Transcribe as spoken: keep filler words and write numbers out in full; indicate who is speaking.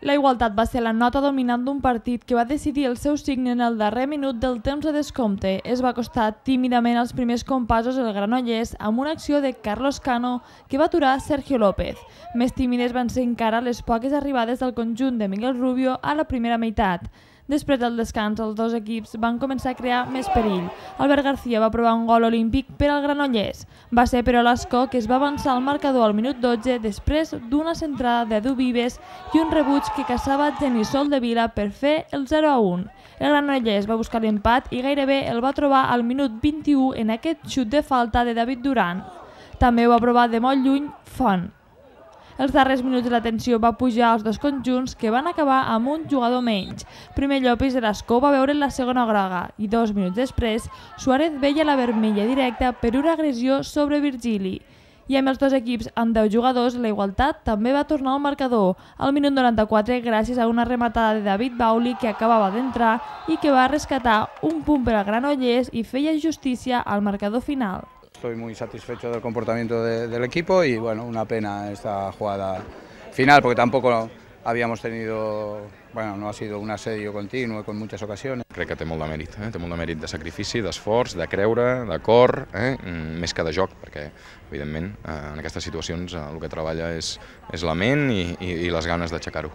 Speaker 1: La igualtat va ser la nota dominant d'un partit que va decidir el seu signe en el darrer minut del temps de descompte. Es va acostar tímidament als primers compassos el Granollers amb una acció de Carlos Cano que va aturar Sergio López. Més tímides van ser encara les poques arribades del conjunt de Miguel Rubio a la primera meitat. Després del descans, els dos equips van començar a crear més perill. Albert García va provar un gol olímpic per al Granollers. Va ser però l'Ascó que es va avançar al marcador al minut dotze després d'una centrada d'Edu Vives i un rebuig que caçava Genís Soldevila per fer el zero a un. El Granollers va buscar l'empat i gairebé el va trobar al minut vint-i-u en aquest xut de falta de David Duran. També ho va provar de molt lluny Font. Els darrers minuts de la tensió va pujar als dos conjunts que van acabar amb un jugador menys. Primer Llopis de l'Ascó va veure la segona groga i dos minuts després Suárez veia la vermella directa per una agressió sobre Virgili. I amb els dos equips amb deu jugadors, la igualtat també va tornar al marcador al minut noranta-quatre gràcies a una rematada de David Bauli que acabava d'entrar i que va rescatar un punt per al Granollers i feia justícia al marcador final.
Speaker 2: Estoy muy satisfecho del comportamiento de, del equipo y bueno, una pena esta jugada final porque tampoco habíamos tenido, bueno, no ha sido un asedio continuo con muchas ocasiones.
Speaker 3: Crec que té molt de mèrit, eh? té molt de mèrit de sacrifici, d'esforç, de creure, de cor, eh? més que de joc, perquè evidentment en aquestes situacions el que treballa és, és la ment i, i, i les ganes d'aixecar-ho.